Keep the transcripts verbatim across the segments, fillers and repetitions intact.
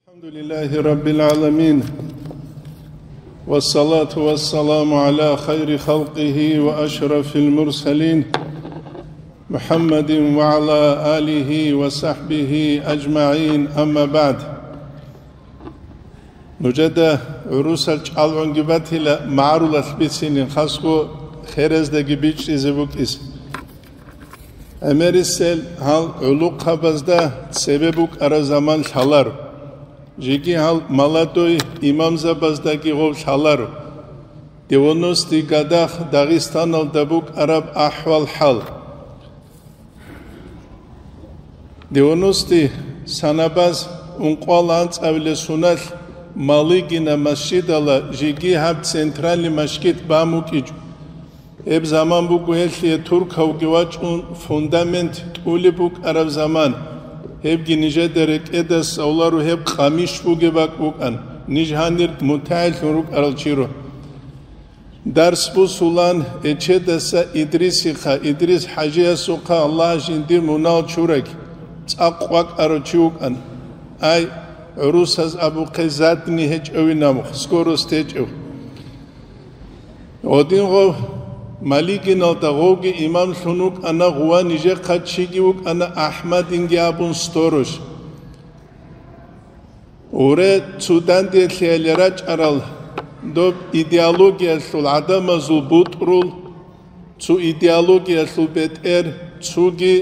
الحمد لله رب العالمين، والصلاة والسلام على خير خلقه وأشرف المرسلين، محمد وعلى آله وصحبه أجمعين، أما بعد. Нужеда гӀурусал чӀалгӀунги батила, магӀарулалъ бицинин, хасго херездаги бичӀчӀизе букӀизе. ГӀемерисел гьал гӀулухъабазда цебе букӀараб заман лъаларо. Жеги гьал молодой имамзабаздаги гъов лъаларо. Девяностый годах Дагъистаналда букӀараб ахӀвал-хӀал. Девяностый санабаз ункъоялда анцӀабилеб соналъ Малыгина масжидалда жеги гьаб центральный мажгит бан букӀинчӀо. Гьеб заман буго гьелъие туркавги вачӀун фундамент тӀулеб букӀараб заман. Гьебги нижеда рекӀеде лъаларо, гьеб къамиш бугеб бакӀ букӀана, ниж гьанир мутагӀиллъун рукӀарал чиро. Дарс бусулан Эчедаса Идрисихъа, Идрис ХӀажиясухъа Аллагь жиндир мунагьал чураги, цӀакъ вакӀарав чи вукӀана. Ай, гӀурусаз абухъе, задний гьечӀевин абухъ, скорость гьечӀев. Гъодин гъов Малыгиналда гъовги имамлъун вукӀана, гъува нижехъа чиги вукӀана АхӀмадинги абун сторож. Гъуре цо данделъиялде рачӀарал доб идеологиялъул гӀадамазул бутӀрул, цо идеологиялъул бетӀер, цоги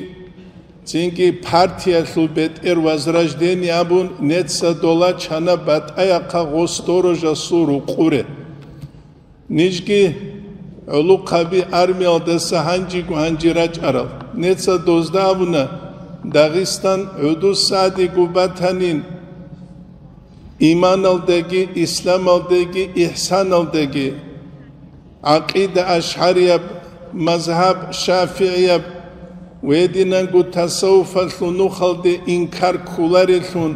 цинги партиялъул бетӀер Возрождение абун, неца дола чана батӀаяхъа гъо сторожасул рукъуре. Нижги гӀолохъаби армиялдаса гьанжего-гьанже рачӀарал. Неца дозда абуна, Дагъистан гӀудусадего батанин, иманалдаги, исламалдаги, ихсаналдаги, гӀакъида ашгӀарияб, мазгьаб шафигӀияб, гьединанго тасаввуфалъул нухалде инкар кколарелъун,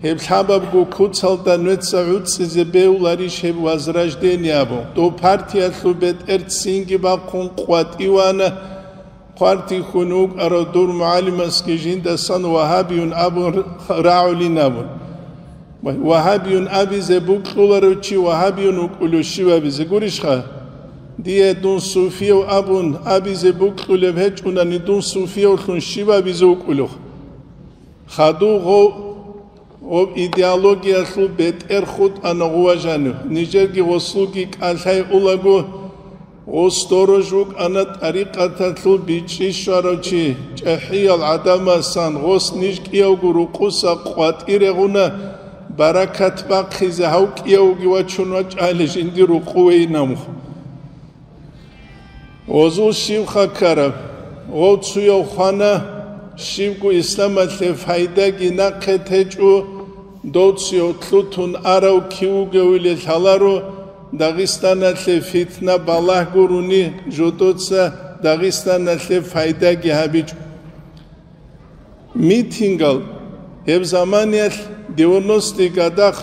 гьеб лъабабго куцалда нуца гӀуцӀизе бегьуларищ гьеб Возрождение абун? Дов партиялъул бетӀер цинги бахъун къватӀивана, хъвартихьун вукӀарав дур мугӀалимасги жиндасан вагьабиюн абун рагӀулин абун. Вагьабиюн абизе бокьуларев чи вагьабиюн вукӀулев щив абизе гурищха? Дие дун суфияв абун абизе бокьулеб гьечӀунани, дун суфиявлъун щив абизе вукӀулев? Хадув гъов, гъов идеологиялъул бетӀер хутӀана гъува жанив. Нижерги гъосулги кӀалъай улаго, гъос сторож вукӀана тӀарикъаталъул бичӀчӀи щварав чи, чӀахӀиял гӀадамасан гъос ниж кӀиявго рукъуса къватӀире гъуна, баракат бахъизе гьав кӀиявги вачун вачӀайилан жиндир рукъувейин абун. Гъозул щибха ккараб? Гъов цуяв хвана, щибго исламалъе пайдаги нахъе течӀо, дов цуяв лъутун арав кив вугевиле лъаларо, Дагъистаналъе фитна балагь гурони, жодоца Дагъистаналъе пайдаги гьабичӀо. Митингал гьеб заманиялъ девяностый годах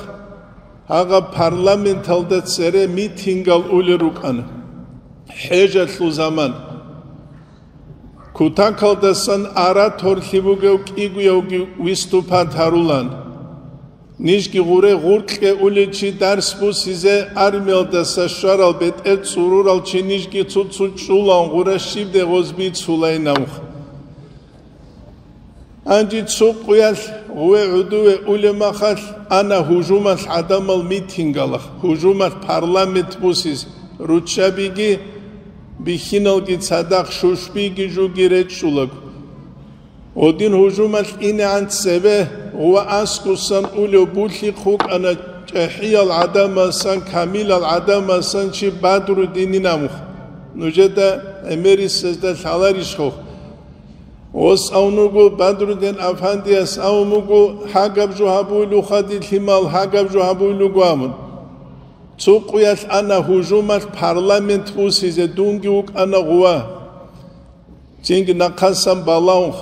гьагъаб парламенталда цере митингал улел рукӀана. ХӀежалъул заман. Кутакалдасан ораторлъи бугев кӀигоявги выступать гьарулан. Нижги гъуре гъуркье улел чи дарс бусизе армиялдаса щварал бетӀер цӀурурал чи нижги цо-цо чӀулаун гъура щибде гъоз бицулайин абун. Гьанже цо къуялъ гъуве гӀодове улеб махалъ ана гьужумалъ гӀадамал митингалахъ, гьужумалъ парламент бусизе, руччабиги бихьиналги цадахъ, шушбиги жуги речӀчӀулаго. Гъодин гьужумалъ инегӀан цебе гъува аскӀусан улев булъихъ вукӀана чӀахӀиял гӀадамасан, камилал гӀадамасан чи Бадруддинин абун. Нужеда гӀемерисезда лъаларищ гъов? Гъос абун вуго, Бадруддин афандияс абун вуго, гьагаб жо гьабуйлуха дир лъимал, гьагаб жо гьабуйлуго абун. Цо къуялъ ана гьужумалъ парламент бусизе, дунги вукӀана гъува. Цинги нахъасан балагьун,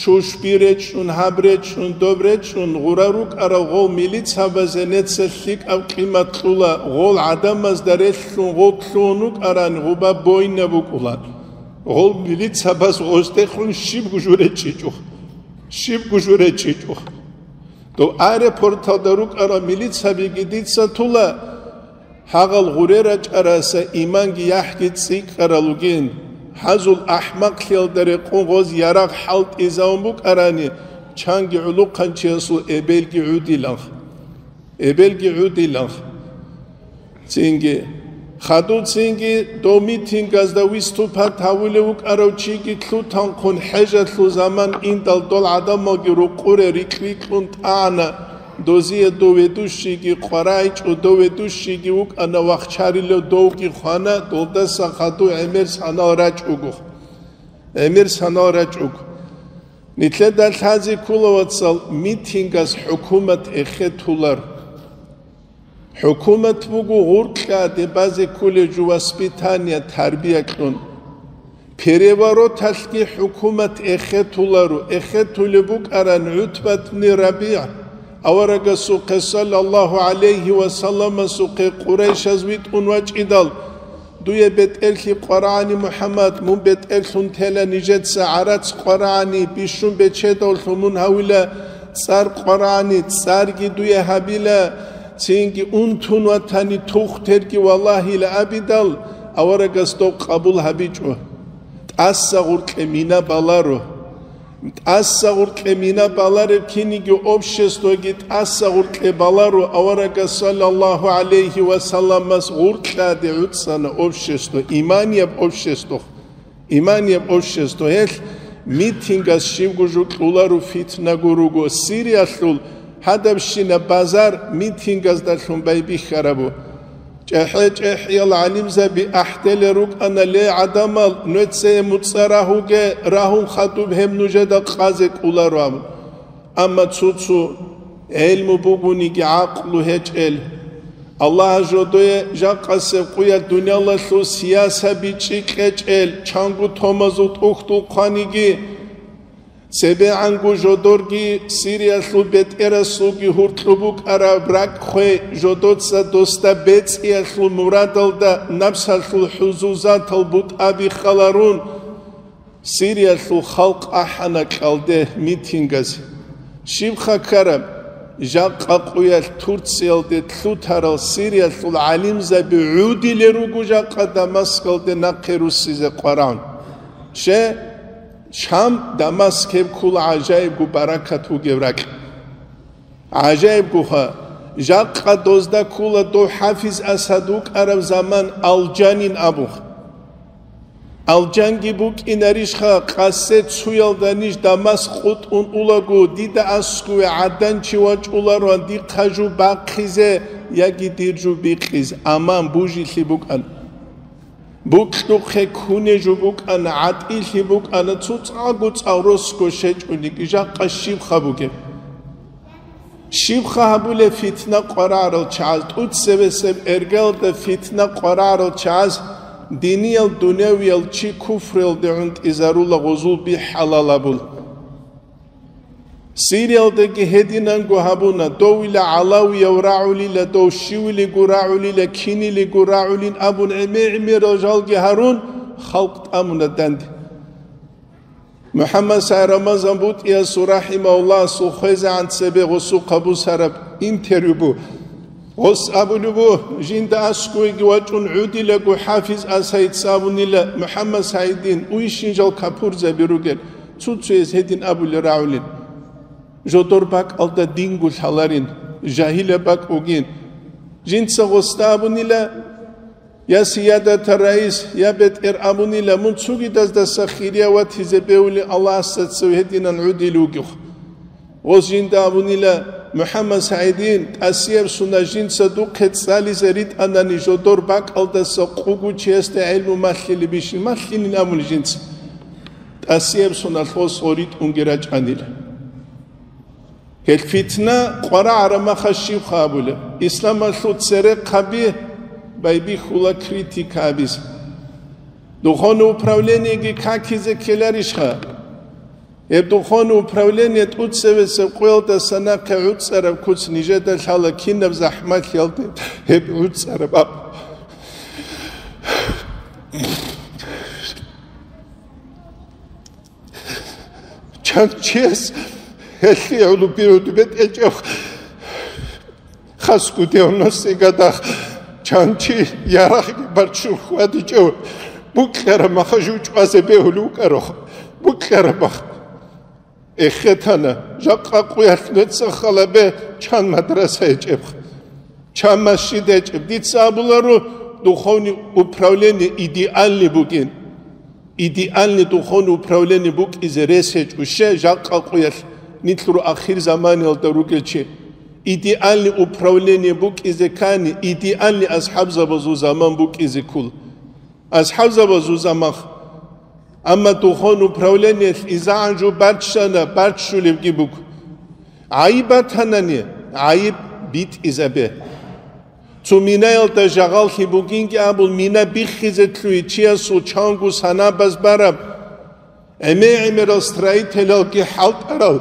шушби речӀчӀун, гьаб речӀчӀун, доб речӀчӀун, гъура рукӀарал гъол милицабазе неца лъикӀаб къимат кьула, гъол гӀадамазда релълъун гъоб лъугьун вукӀарани гъуба бойна букӀулан. Гъол милицабаз гъоздехун щибго жо речӀчӀичӀо, щибго жо речӀчӀичӀо. Дов аэропорталда рукӀарал милицабиги дица тула, гьагъал гъуре рачӀараса иманги яхӀги цӀикӀкӀарал ругин, гьазул ахӀмакълъиялда рекъон гъоз ярагъ хӀалтӀизавун букӀарани, чанги гӀулухъанчиясул эбелги гӀудиланха. Эбелги гӀудиланха. Цинги, хадув цинги дов митингазда выступать гьавулев вукӀарав чиги лъутанхъун хӀежалъул заман индал дол гӀадамалги рукъуре рикьри-кьун тӀагӀана, дозие дов ведущийги къварагӀичӀо, дов ведущийги вукӀана вахчарилев, довги хвана, долдаса хадув гӀемер санал рачӀуго. ГӀемер санал рачӀуго. Нилъеда лъазе ккола, вацал, митингас хӀукумат эхетулар. ХӀукумат буго гъуркьа дебазе кколеб жо воспитание, тарбия кьун. Перевороталъги хӀукумат эхетуларо, эхетулеб букӀаран ГӀутбат бни РабигӀ, аварагасухъе саллаллагьу гӀалайгьи ва салламасухъе Къурайшаз витӀун вачӀидал, дуе бетӀерлъи къварагӀани, МухӀаммад, мун бетӀерлъун тела нижеца гӀарац къварагӀани, бищун бечедавлъун мун гьавила цӀар къварагӀани, цӀарги дуе гьабила, цинги унтун ватани тухтерги валагьила абидал, аварагас дов къабул гьабичӀо. ТӀаса гъуркье мина баларо. ТӀаса гъуркье мина балареб киниги обществоги тӀаса гъуркье баларо, аварагас саллаллагьу гӀалайгьи ва салламас гъуркьаде гӀуцӀана общество, иманияб общество. Иманияб общество гьелъ митингас щибго жо кьоларо, фитнаго руго. Сириялъул гьадабщина базар митингаздалъун байбихьарабу. ЧӀехӀе-чӀехӀиял гӀалимзаби ахӀделел рукӀана, ле, гӀадамал, нуецае муцӀа рагьуге, рагьун хадуб гьеб нужеда къазе кӀоларо абун. Амма цо-цо гӀелму бугониги гӀакълу гьечӀел, Аллагь жодое жакъасеб къуялъ дуниялалъул сиясаби чӀикӀечӀел, чанго томазул тӀухьдул хъваниги, цебегӀанго жодорги Сириялъул бетӀерасулги гьуркьу букӀараб ракӀ хвей, жодоца досда бецӀиялъул мурадалда напсалъул хӀузузатал бутӀаби халарун, Сириялъул халкъ ахӀана кьалде митингазе. Щибха ккараб? Жакъа къуялъ Турциялде лъутарал Сириялъул гӀалимзаби гӀудилел руго жакъа Дамаскалде нахъе руссизе къварагӀун. Ще, Шам, Дамаск гьеб ккола гӀажаибго баракат бугеб ракь. ГӀажаибгоха, жакъа дозда ккола дов ХӀафиз Асад вукӀараб заман Алжанин абун. Алжанги букӀинарищха, къасе цуялда ниж Дамаск къутӀун улаго, дида аскуве гӀадан чи вачӀулароан дихъа жо бахъизе яги дир жо бикъиз, аман бужилъи букӀан. Букьухъе ккуней жо букӀана, гӀатӀилъи букӀана, цоцӀаго цӀал росго щечӀониги, жакъа щибха бугеб? Щибха гьабулеб фитна къварагӀарал чагӀаз, тӀуцебесеб эргалда фитна къварагӀарал чагӀаз, диниял, дуневиял чи куфруялде гӀунтӀизарула, гъозул би хӀалал абула. Сириялдаги гьединанго гьабуна, довила гӀалавияв рагӀулила, дов щивилиго рагӀулила, кинилиго рагӀулин абун гӀемер-гӀемерал жалги гьарун, халкъ тӀамуна данде. МухӀаммад СагӀид Рамазан БутӀиясул, рахӀимагьуллагь, асул хвезегӀан цебе гъосухъа бусараб интервью бу. Гъос абулеб бу, жинда аскӀовеги вачӀун гӀудилаго ХӀафиз Асайица абунила, МухӀаммад СагӀидин, уйщин жал капурзаби ругел, цо-цояс гьедин абулел рагӀулин. Жодор бакӀалда динго лъаларин, жагьилаб бакӀ бугин. Жинца гъосда абунила, я сиядата раис, я бетӀер абунила, мун цугидаздаса хирияв ватизе бевли Аллагьасда цев гьединан гӀудил вугев. Гъоз жинда абунила, МухӀаммад СагӀидин, тӀасияб сунат жинца духъе цӀализе ритӀанани жодор бакӀалдаса къугу чиясда гӀелму малъилебищин, малъилин абуни жинца. ТӀасияб сунат гъос гъо ритӀунги рачӀанила. Гьел фитна къварагӀараб маха щибха абулеб? Исламалъул церехъаби байбихьула критика гьабизе. Духовное управлениеги какизе ккеларищха? Гьеб духовное управление тӀуцевесеб къоялдаса нахъе гӀуцӀараб куц нижеда лъала кинаб захӀмалъиялде гьеб гӀуцӀараб аб. Чан чияс гьелъие гӀоло бигӀуду бетӀечӀеб Хасго девяностые годах чан чи ярагъги барччун хьвадичӀев, букьараб маха жучӀвазе бегьулев вукӀарох, букьараб мах. Эхетана, жакъа къуялъ меца халабе чан мадраса гьечӀеб, чан масжид гьечӀеб. Дица абуларо, духовный управление идеальный бугин. Идеальный духовный управление букӀизе рес гьечӀо ще жакъа къуялъ, нилъ ру ахир заманиялда ругел чи. Идеальный управление букӀизе ккани, идеальный асхӀабзабазул заман букӀизе ккола. АсхӀабзабазул замах. Амма духовный управлениялъ изагӀан жо барччана, барччулебги буго. ГӀайиб батанани, гӀайиб битӀизабе. Цо минаялда жагъаллъи бугинги абун, мина биххизе лъугьи чиясул чанго санабаз бараб, гӀемер-гӀемерал строителалги хӀалтӀарал,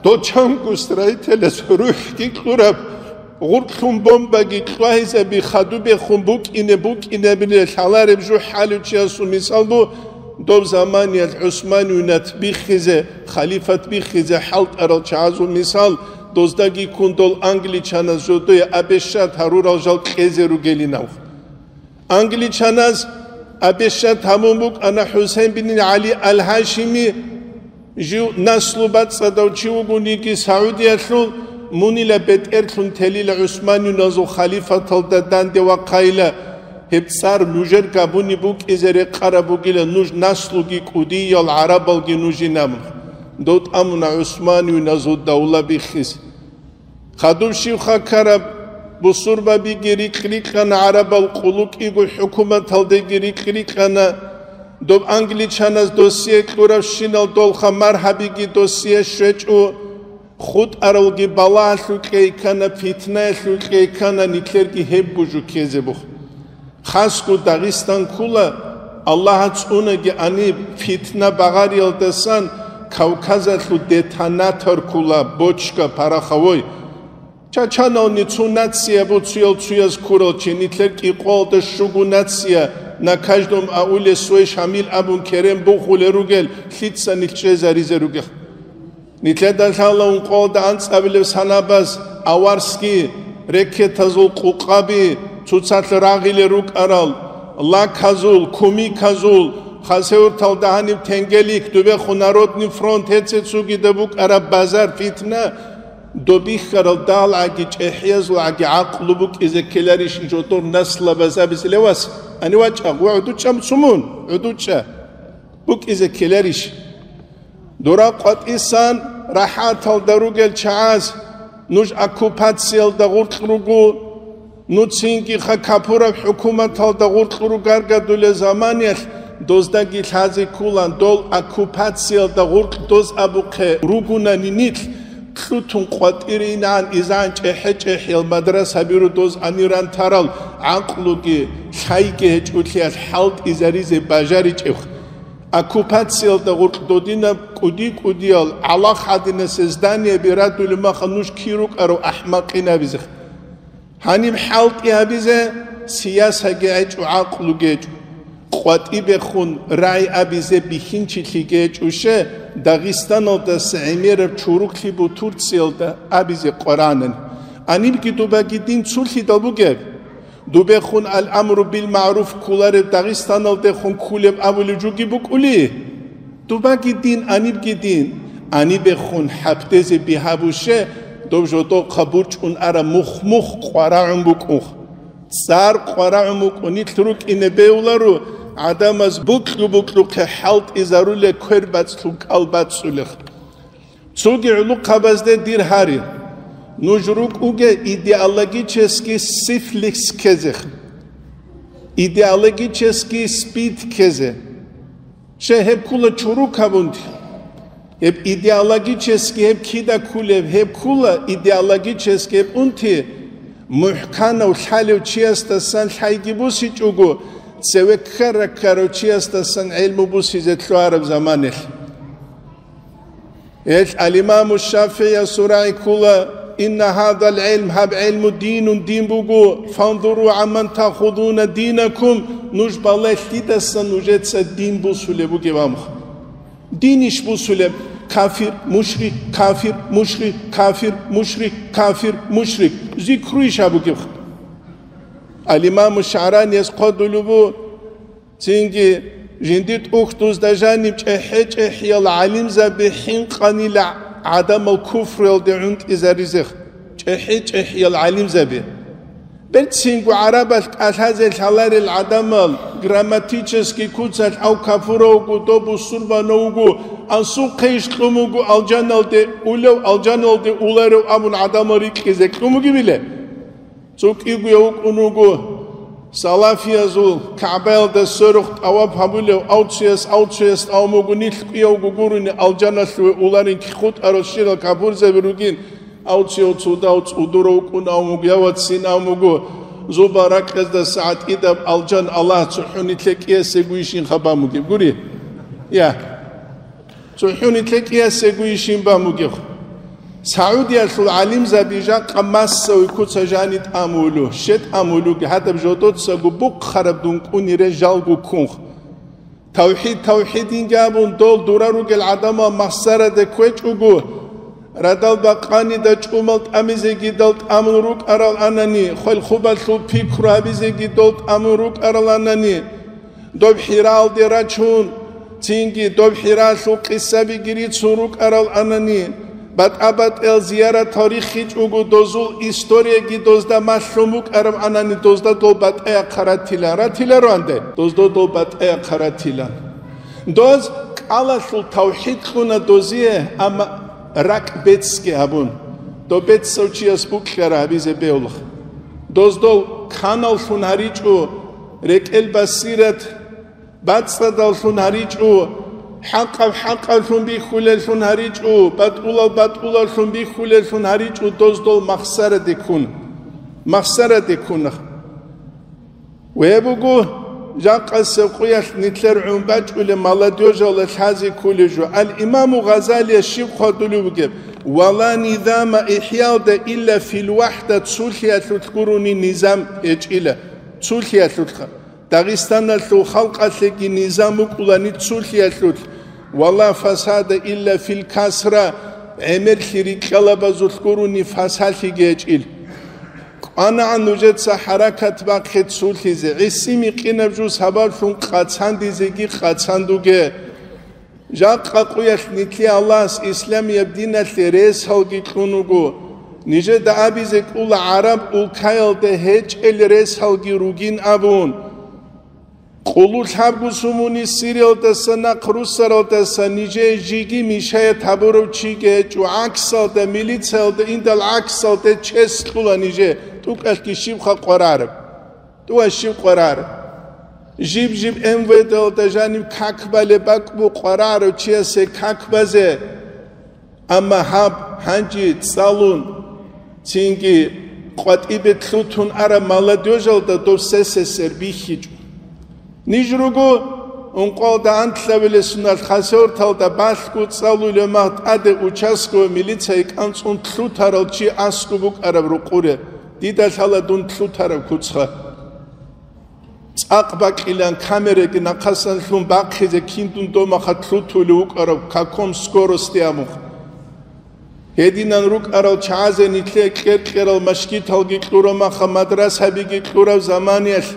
дол чанго строителас рухӀги кьураб, гъуркьун бомбаги кьвагьизаби хадубехун букӀине-букӀинабиле лъалареб жо хӀалев чиясул мисал бу, доб заманиялъ ГӀусмануйнат биххизе, халифат биххизе хӀалтӀарал чагӀазул мисал, доздаги ккун дол англичаназ жодое обещать гьарурал жал кьезе ругелинав. Англичаназ обещать гьабун букӀана ХӀусейн бин ГӀали ал-Гьашими, жив наслу бацӀцӀадав чи вугониги Саудиялъул, мунила бетӀерлъун телила ГӀусмануйназул халифаталда данде вахъайила, гьеб цӀар нужер габуни букӀизе рекъараб бугила, нуж наслуги кӀудиял гӀарабалги нужин абун. Дов тӀамуна ГӀусмануйназул давла биххиз. Хадуб щибха ккараб, бусурбабиги рикь-рикьана, гӀарабал къулу кӀиго хӀукуматалдеги рикь-рикьана, доб англичаназ досие кьуравщинал долха маргьабиги досие щвечӀо, хутӀаралги балагьалъул кьейкана, питнаялъул кьейкана, нилъерги гьеб бужу ккезе бух. Хасго Дагъистан ккула, Аллагьас цӀунаги аниб, фитна багъариялдасан Кавказалъул детонатор ккула, бочка пороховой. Чачанални цо нация буцуял цуяз ккурал чи, нилъер кӀикъоялда щуго нация, на каждом ауле свой Шамил абун керен бухулел ругел, лъица нилъ чӀезаризе ругел. Нилъеда лъала ункъоялда анцӀабилеб санабаз аварский рекетазул къукъаби, цоцалъ рагъилел рукӀарал лаказул, кумиказул, Хасавюрталда гьаниб тенгелик, дубехун Народный фронт, гьеце цогида букӀараб базар, фитна, доб бихьарал далгӀаги чӀехӀиязулгӀаги гӀакълу букӀизе ккеларищ жодор наслабаз абизе, ле вас, ани вачӀа, гъо гӀудучӀа мусумун, гӀудучӀа букӀизе ккеларищ? Дора къватӀисан рахӀаталда ругел чагӀаз, нуж оккупациялда гъуркь руго, нуцинги ха капураб хӀукуматалда гъуркь ругаргадулел заманиялъ, доздаги лъазе ккулан, дол оккупациялда гъуркь доз абухъе ругунани нилъ, кьутун къватӀире инан изан чӀехӀе-чӀехӀиял мадрасаби ру доз аниран тарал гӀакълуги лъайги гьечӀолъиялъ хӀалтӀизаризе бажаричӀеб. Оккупациялда гъуркь додинаб кӀуди-кӀудиял гӀалахъ гьадинасе зданиеби радулеб маха нуж кир рукӀарав ахӀмакъин абизе. Гьаниб хӀалтӀи гьабизе сиясаги гьечӀо, гӀакълуги гьечӀо. КъватӀибехун рагӀи абизе бихьинчилъиги гьечӀо ще, Дагъистаналдаса гӀемераб чуруклъи бу Турциялда абизе къваранани. Анибги дубаги дин цулъидал бугеб? Дубехун ал-амру бил-магӀруф кколареб Дагъистаналдехун кколеб абулев жуги букӀули? Дубаги дин, анибги дин. Анибехун хӀапдезе бигьа буше, доб жодохъа бурчӀун ара мух-мух къварагӀун букӀунх. ЦӀар къварагӀун букӀун, нилъ рукӀине бевларо, гӀадамаз букьу-букьухъе хӀалтӀизаруле квер бацлъун кӀал бацӀцӀулех. Цоги гӀулухъабазде дир гьари, нуж рукӀуге идеологический сифлис ккезех, идеологический спид ккезе. Ще гьеб ккула чурукаб унти. Гьеб идеологический гьеб кида ккулеб, гьеб ккула идеологический гьеб унти, мухӀканав лъалев чиясдасан лъайги бусичӀого, цеве ккара-ккарав чиясдасан гӀелму бусизе лъугьараб заманелъ. Гьелъ ал-Имаму ШафигӀиясул рагӀи ккола: «Инна гьадал гӀилм, гьаб гӀилму динун, дин буго, фанзуру гӀамман таахузуна динакум, нуж балагье, лъидасан нужеца дин бусулеб бугеб», – амха. Дин иш бусулеб? Кафир, мушрик, кафир, мушрик, кафир, мушрик, кафир, мушрик. Зикруйищ гьабугеб? Ал-Имаму ШагӀранияс хъвадулеб буго, цинги жиндир тӀухьдузда жаниб чӀехӀе-чӀехӀиял гӀалимзаби хӀинкъанила гӀадамал куфруялде гӀунтӀизаризе, чӀехӀе-чӀехӀиял гӀалимзаби. Берцинго гӀарабалъ кӀалъазе лъаларел гӀадамал, грамматический куцалъ ав кафуравго, доб бусурбанавго, ансухъейищ кьун буго алжаналде улев, алжаналде уларев абун гӀадамал рикьизе кьун бугебиле? Цо кӀигояв вукӀун вуго салафиязул КагӀбаялда сверухъ тӀаваф гьабулев, авцуяс авцуяс тӀамун буго, нилъ кӀиявго гурони алжаналъуве уларин кихъутӀарал щирал капурзаби ругин, авцияв цо дав цӀудурав вукӀун абун буго, я вацин абун буго, зуба ракьаздаса гӀатӀидаб алжан Аллагь цохӀо нилъе кӀиясегойищин хабар бугеб гури? Я. ЦохӀо нилъе кӀиясегойищин бан бугеб? Саудиялъул гӀалимзаби жакъа массовый куца жани тӀамулу, ще тӀамулуги, гьадаб жодоцаго бухъараб дункӀунире жалго ккунх. Тавхид, тавхидинги абун, дол дурар ругел гӀадамал махсараде кквечӀого, радал бакъанида чӀумал тӀамизеги дол тӀамун рукӀарал анани, хвел-хубалъул пикру гьабизеги дол тӀамун рукӀарал анани, доб ХӀираалде рачун, цинги доб ХӀираалъул къисабиги рицун рукӀарал анани, батӀа-батӀиял зияратал риххичӀого дозул историяги дозда малъун букӀараб анани, дозда дол батӀаяхъа ратила, ратилароанде, дозда дол батӀаяхъа ратилан. Доз кӀалалъул тавхид кьуна дозие, амма ракӀ беццги гьабун, доб беццав чияс букьара гьабизе бегьулаха. Доздол каналлъун гьаричӀо, рекӀел басират бацӀцӀадаллъун гьаричӀо, хӀакъаб хӀакъаблъун бихьулеллъун гьаричӀо, батӀулаб батӀулаблъун бихьулеллъун гьаричӀо, доздол махсараде ккун, махсараде ккуна. Ве буго, жакъасеб къуялъ нилъер гӀун бачӀулеб молодёжалда лъазе кколеб жо. Ал-Имаму Гъазалияс щиб хъвадулев вугеб: «Ва ла низама ихьялда илла фил вахӀда», цулъиялъулъ гурони низам гьечӀила, цулъиялъулъха. Дагъистаналъул халкъалъеги низам букӀулани цулъиялъулъ, «Ва ла фасада илла фил касра», гӀемерлъи рикьалабазулъ гурони фасалъиги гьечӀил. КӀванагӀан нужеца хӀаракат бахъе цулъизе, гӀиси-микъинаб жо сабаблъун къацандизеги къацандуге. Жакъа къуялъ нилъе Аллагьас исламияб диналъе ресалги кьун вуго, нижеда абизе кӀула гӀараб улкаялда гьечӀел ресалги ругин абун. Къулу лъабго сумуни Сириялдаса нахъ руссаралдаса нижее жиги мешает гьабурав чиги гьечӀо, гӀаксалда, милициялда индал гӀаксалде чес кьула нижее, тӀукӀалъги щибха къварараб? ТӀуа щиб къварар? Жиб-жиб М В Д-алда жаниб как балеб бакӀ бу къварарав чиясе как базе. Амма гьаб, гьанже цӀалун, цинги къватӀибе лъутун араб молодёжалда дов сесесер бихьичӀо. Ниж руго ункъоялда анлъабилесуналъ Хасавюрталда балъго цӀалулев мах тӀаде участковый милицияе кӀанцӀун лъутарал чи аскӀоб букӀараб рукъуре, дида лъала дун лъутараб куцха. ЦӀакъ бакьилан камераги нахъасан лъун бахъизе кин дун домахъа лъутулев вукӀараб каком скорости абухъ. Гьединан рукӀарал чагӀазе нилъее кьер-кьерал машгиталги кьураб маха мадрасабиги кьураб заманиялъ,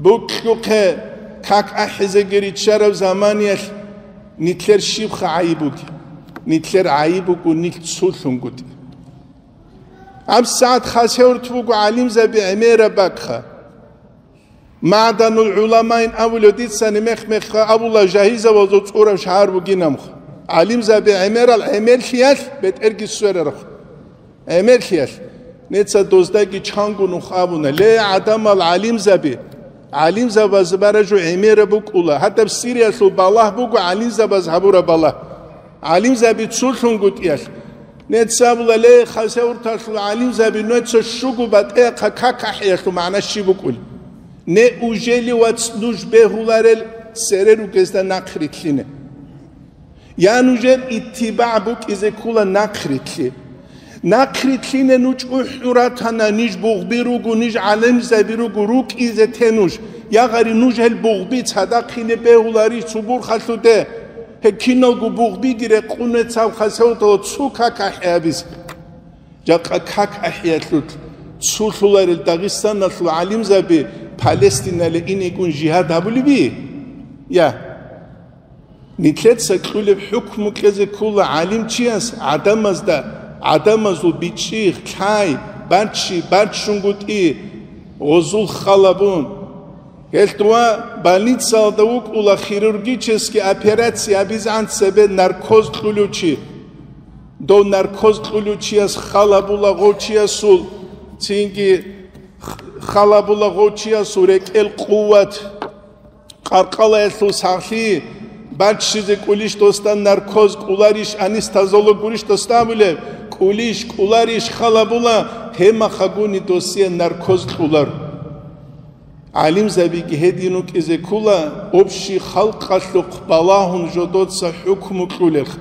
букьухъе как ахӀизеги риччараб заманиялъ, нилъер щибха гӀайиб буги? Нилъер гӀайиб буго нилъ цулъунгутӀи. ГьабсагӀат Хасавюрт буго гӀалимзаби гӀемераб бакӀха. МагӀданул гӀуламаин абулев дицани мех-мехха абула жагьилзабазул цӀураб шагьар бугинамха. ГӀалимзаби гӀемерал гӀемерлъиялъ бетӀерги сверарха. ГӀемерлъиялъ. Неца доздаги чанго нух абуна: «Ле, гӀадамал гӀалимзаби! ГӀалимзабаз баражу гӀемераб букӀула. Гьадаб Сириялъул балагь буго гӀалимзабаз гьабураб балагь». ГӀалимзаби цулъунгутӀиялъ. Неца абула: «Ле, Хасавюрталъул гӀалимзаби, нуца щуго батӀеяхъа как ахӀиялъул магӀна щиб букӀул? Неужели, вац, нуж бегьуларел цере ругезда нахъ рилълъине? Я нужер иттибагӀ букӀизе ккула нахъ рилълъи? Нахъ рилълъине нуж чӀухӀун ратана, ниж бугъби руго, ниж гӀалимзаби руго, рукӀизе те нуж. Я гъари, нуж гьел бугъби цадахъине бегьуларищ цо бурхалъуде? Гьеб киналго бугъбиги рекъун вецав Хасавюрталъ цо как ахӀи гьабизе». Жакъа как ахӀиялъулъ Цулъуларел Дагъистаналъул гӀалимзаби Палестинале инекӀун жигьад гьабулеби? Я. Нилъеца кьулеб хӀукму кьезе ккола гӀалимчияс гӀадамазда, гӀадамазул бичӀчӀи, лъай, баччи, баччунгутӀи, гъозул халабун. Гьелъ дова больницаялда вукӀула хирургический операция гьабизегӀан цебе наркоз кьулев чи. Дов наркоз кьулев чияс халабула гъов чиясул, цинги халабула гъов чиясул рекӀел къуват. Къаркъалаялъул сахлъи баччизе кӀулищ досда наркоз, кӀуларищ анестезиолог гурищ досда абулеб, кӀулищ, кӀуларищ халабула, гьемахъагуни досие наркоз кьулар. ГӀалимзабиги гьедин рукӀизе ккула, общий халкъалъухъ балагьун жодоца хӀукму кьулелъ.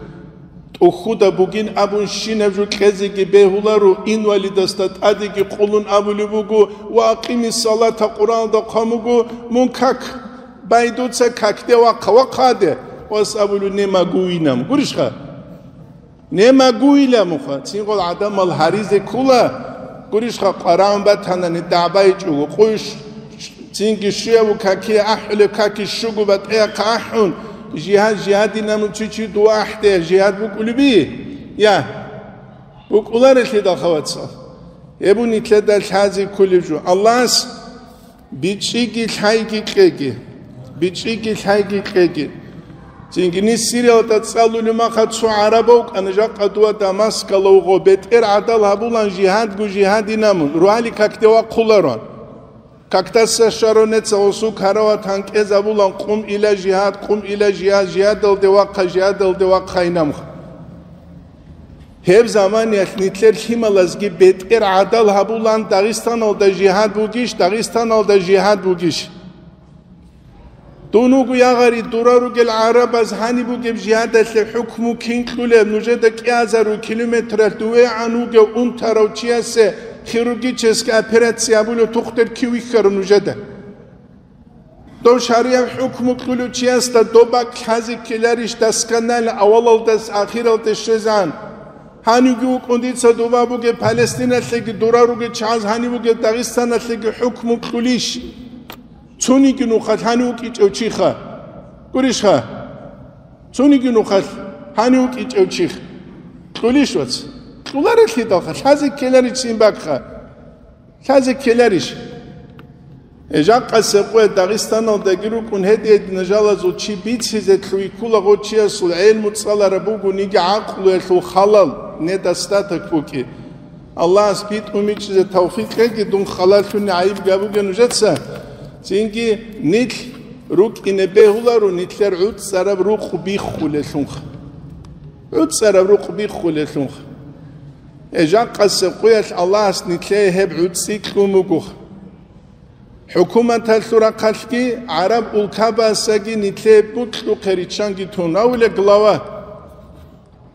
ТӀухьуда бугин абун щинаб жо кьезеги бегьуларо, инвалидасда тӀадеги къулун абулеб буго: «Ва акъимис салата», Къуръаналда хъван буго: «Мун как, байдуца какде вахъа, вахъаде», вас абулев: «Не могу инам». Гурищха? Не могу иламуха, цинги гъол гӀадамал гьаризе ккула, гурищха, къварагӀун батанани дагӀбайчӀого, къуйш, цинги щуябу какие ахӀулеб каки щуго батӀияб ахӀун, жигьад, жигьадин абун чи чи дова ахӀдеян жигьад букӀулеби? Я, букӀуларелъидал, хавацал. Гьеб нилъеда лъазе кколеб жо. Аллагьас БичӀчӀиги лъайги кьеги. БичӀчӀиги лъайги кьеги. Цинги ниж Сириялда цӀалулев маха цо гӀараб вукӀана, жакъа дова Дамаскалда вуго, бетӀер гӀадал гьабулан жигьадгу жигьадин абун, ругьали какде вахъуларо. Какдаса щваро неца гъосул карават гьанкӀез абулан: «Къум ила жигьад, къум ила жигьад, жигьадалде вахъа, жигьадалде вахъа», инамха. Гьеб заманиялъ нилъер лъималазги бетӀер гӀадал гьабулан: «Дагъистаналда жигьад бугищ, Дагъистаналда жигьад бугищ?» Дун вуго, я гъари, дора ругел гӀарабаз гьаниб бугеб жигьадалъе хӀукму кин кьулеб, нужеда кӀиазару километралъ дувегӀан вугев унтарав чиясе хирургическая операция гьабулев тухтер кив вихьарав нужеда? Дов шаргӀияб хӀукму кьулев чиясда доб бакӀ лъазе ккеларищ, досконально авалалдаса ахиралде щвезегӀан? Гьанивги вукӀун дица доба бугеб Палестиналъеги дора ругел чагӀаз гьанив вугеб Дагъистаналъеги хӀукму кьулищ? Цониги нухалъ гьанив вукӀинчӀев чиха. Гурищха? Цониги нухалъ гьанив вукӀинчӀев чих. Кьулищ, вац? Кьуларелъидалха, лъазе ккеларищ цин бакӀха. Лъазе ккеларищ? Э, жакъасеб къоялъ Дагъистаналдаги рукӀун гьедин-гьедин жалазул чи бицизе кьуй ккула, гъо чиясул гӀелму цӀалараб бугониги гӀакълуялъул халал, недостаток букӀи. Аллагьас битӀун бичӀчӀизе тавфикъ кьеги, дун халаллъуни гӀайиб гьабуге нужеца. Цинги нилъ рукӀине бегьуларо нилъер гӀуцӀараб рукъ биххулелъунха. ГӀуцӀараб рукъ биххулелъунха. Э, жакъасеб къоялъ Аллагьас нилъее гьеб гӀуцӀи кьун буго. ХӀукуматалъул рахъалъги гӀараб улкабасаги нилъее букьухъе риччанги тун. Авулеб глава.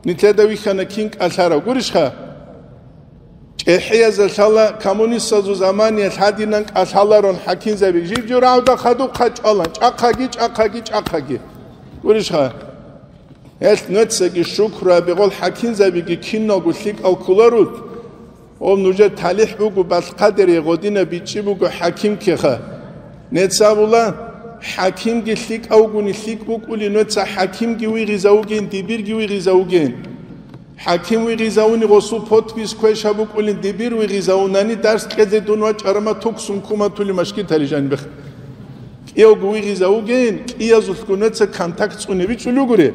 Нилъеда вихьана кин кӀалъарав гурищха? ЧӀехӀиязда лъала коммунистазул заманиялъ гьадинан кӀалъаларун хӀакимзаби. Жиб-журагӀуда хадуб хъачӀвалан, чӀахъаги, чӀахъаги, чӀахъаги. Гурищха? Гьелъ нуцаги шукру гьабе, гъол хӀакимзабиги киналго лъикӀал кколарут. Гъоб нужер талихӀ буго, балъ-хъадир гъодинаб бичӀчӀи буго хӀаким ккеха. Нецабула, хӀакимги лъикӀавгуни лъикӀ букӀули, нуца хӀакимги вигъизавугин, дибирги вигъизавугин. ХӀаким вигъизавуни гъосул подпись квеша букӀулин, дибир вигъизавунани дарс кьезе дун вачӀарама туксун куматули машкитали жанибех. КӀиявго вигъизавугин, кӀиязулъго нуца контакт цӀуне бичӀчӀулугури.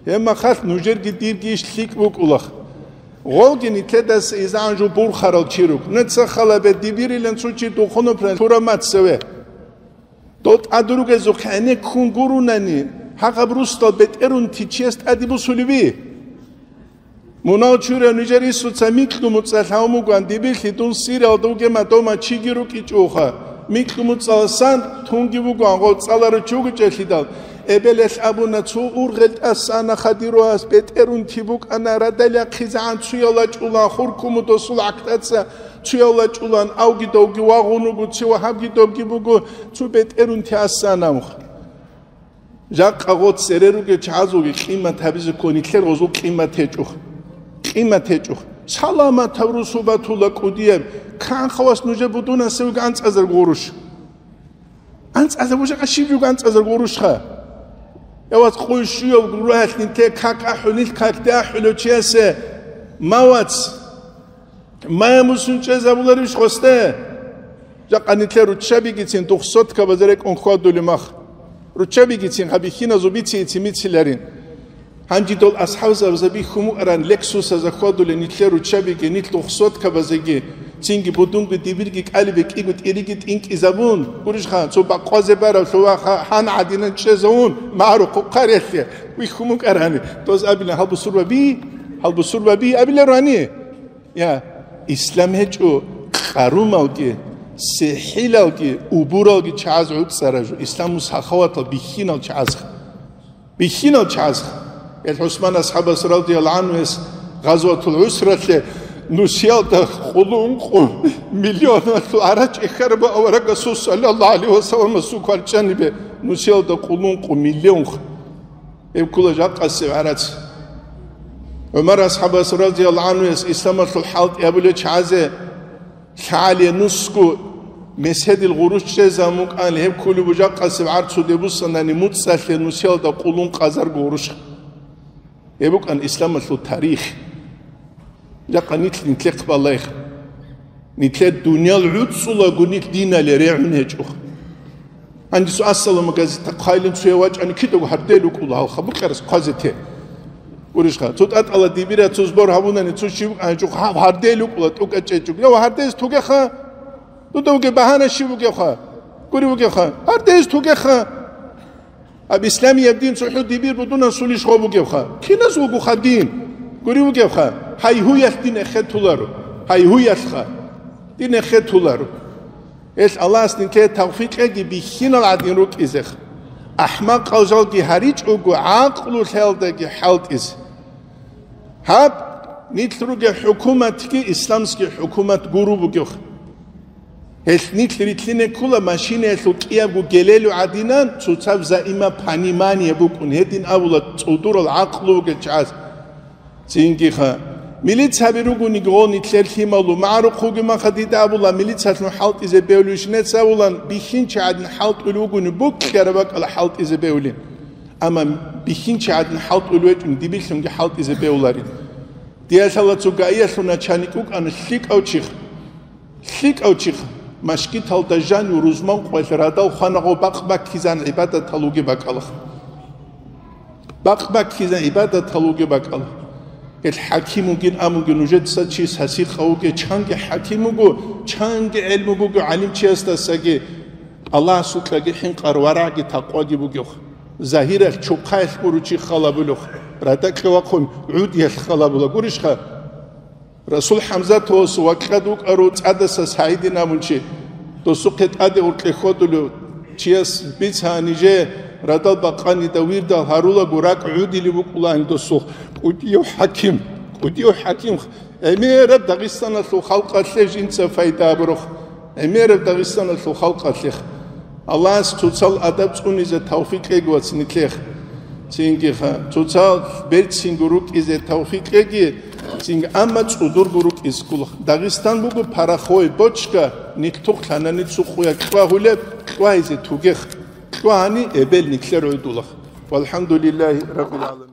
Гьеб махалъ нужерги дирги иш лъикӀ букӀулах. Гъолги нилъедаса изагӀан жо бурхарал чи рук. Нуца халабе дибирилан цо чи духъун пран тураб мацаве. Дол тӀадругезухъ гӀенеккун гурунани, гьагъаб русдал бетӀерунти чияс тӀаде бусулеби? Мунал чурав нижер Исуца микьу-муцӀа лъавун бугоан, дибирлъи дун Сириялда вугема дома чиги рукӀичӀоха. Микьу-муцӀаласан тунги бугоан, гъов цӀаларав чи вугичӀелъидал, эбелалъ абуна, цо ургъел тӀаса ана хадируас, бетӀерунти букӀана, радал яхъизегӀан цуял вачӀулан, хуркуму досул гӀахьтаца цуял вачӀулан, авги довги вагъун вуго, ци вагьабги довги буго, цо бетӀерунти асан амух. Жакъа гъо цере ругел чагӀазулги къимат гьабизе ккун, нилъер гъозул къимат гьечӀо. Къимат гьечӀо. Саламатаб русу батула кӀудияб, канхъавас нужер будунасевги анцӀазарго гъурущ. АнцӀазаб жакъа щиб жуго анцӀазарго гъурущха? Я вац, къуй щуяб гуроялъ нилъе как ахӀулел, какде ахӀулев чиясе, ма вац, мая мусун чӀезабуларищ хосде? Жакъа нилъер руччабигицин духсоткабазе рекӀун хьвадулеб мах. Руччабигицин гьабихьиназул бициги цимициларин. Гьанжидал асхӀабзабазда бихьун букӀаран Лексусазда хьвадулел нилъер руччабиги, нилъ духсоткабазеги, цинги будунги дибирги кӀалибе кӀиго тӀириги тӀинкӀизабун, гурищха, цо бакъвазе барав лъува ха-, гьан гӀадинан чӀезавун, магӀарухъ хъарелъе бихьун букӀарани, доз абилан гьалбусурбаби, гьалбусурбаби абилароани? Я, ислам гьечӀо къарумалги, сихӀилалги, убуралги чагӀаз гӀуцӀараб жо, ислам сахаватал бихьинал чагӀазха. Бихьинал чагӀазха. Ил ГӀусман асхӀабас радияллагьу гӀанхуяс Гъазватул ГӀусралъе нусиялда къулункъу миллионалъул гӀарач эхараб аварагасул саллаллагьу гӀалайгьи вассаламасул кварчӀанибе нусиялда къулункъу миллионха. Гьеб ккола жакъасеб гӀарац. ГӀумар асхӀабас радияллагьу гӀанхуяс исламалъул хӀалтӀи абулел чагӀазе лъагӀалие нусго меседил гъурущ чӀезабун букӀан, гьеб кколеб бу жакъасеб гӀарцуде буссанани муцӀалъе нусиялда къулун къазарго гъурущ. Гьеб букӀан исламалъул тарих. Жакъа нилъ нилъехъ балайх. Нилъер дуниял гӀуцӀулаго нилъ динале регӀун гьечӀо. Гьанже цо ассалама газета хъайлин цояв вачӀани кидаго гьардел рукӀула гьалха букьарас хъвазе те. Гурищха, цо тӀатӀала дибира цо сбор гьабунани цо щив гьанчӀухъ гьаб гьардел рукӀула тӀукӀа чӀечӀуг. Я гьардез тугеха, дуда вугеб багьана щив вугевха? Гури вугевха, гьардез тугеха. Гьаб исламияб дин цохӀо дибир будунасулищ гъо бугевха? Киназ вугоха дин? Гури вугевха, гьайгьуялъ дин эхетуларо, гьайгьуялъха дин эхетуларо. Гьелъ Аллагьас нилъее тавфикъ кьеги бихьинал гӀадин рукӀизех. АхӀмакъал жалги гьаричӀого гӀакълу лъаялдаги хӀалтӀизе. Гьаб, нилъ ругел хӀукуматги исламский хӀукумат гуру бугев. Гьелъ нилъ рилълъине ккула машинаялъул кӀиябго гелелу гӀадинан цоцаб заимаб понимание букӀун, гьедин абула цӀудурал гӀакълу бугел чагӀаз. Цинги-ха, милицаби ругониги гъо нилъер лъималу, магӀарухъ вугеб маха дида абула, милицалъун хӀалтӀизе бевлуйищ нецц абулан, бихьинчи гӀадин хӀалтӀулев вугони букьараб бакӀала хӀалтӀизе бевлин. Амма бихьинчи гӀадин хӀалтӀулев вечӀун дибилъунги хӀалтӀизе бевларин. Диялъала цо гаиялъул начальник вукӀана лъикӀав чихъ. ЛъикӀав чихъ, машгиталда жанив рузман къоялъ радал хванагъо бакъ баккизан гӀибадатал вугеб бакӀалах. Бакъ баккизан гӀибадатал вугеб бакӀал. Гьел хӀаким вугин, амуги нужеца чи сасихъав вугев, чанги хӀаким вуго, чанги гӀелму буго гӀалимчиясдасаги, Аллагьасукьаги хӀинкъар варагӀги такъваги бугев. Загьиралъ чухъаялъ гуру чи халабулев, радакье вахъун гӀудиялъ халабула гурищха? Расул ХӀамзатовасул вакьад вукӀарав цӀадаса СагӀидин абун чи, досухъе тӀаде гъоркье хьодулев чияс бица, гьанже радал бакъанида вирдал гьарулаго ракӀ гӀудилеб букӀулаан досул. КӀудияв хӀаким, кӀудияв хӀаким, гӀемераб Дагъистаналъул халкъалъе жинца пайда гьабурухъ, гӀемераб Дагъистаналъул халкъалъех. Аллагьас цоцал адаб цӀунизе тавфикъ кьеги вац нилъех. Цинги-ха, цоцал берцинго рукӀизе тавфикъ кьеги, цинги, амма цӀудурго рукӀизе ккола. Дагъистан буго пороховой бочка, нилъ тухълъанани цо къуя кьвагьулеб, кьвагьизе тугех, кьвагьани эбел нилъер гӀодулах. ВалхӀамдулиллагьи раббил гӀаламин.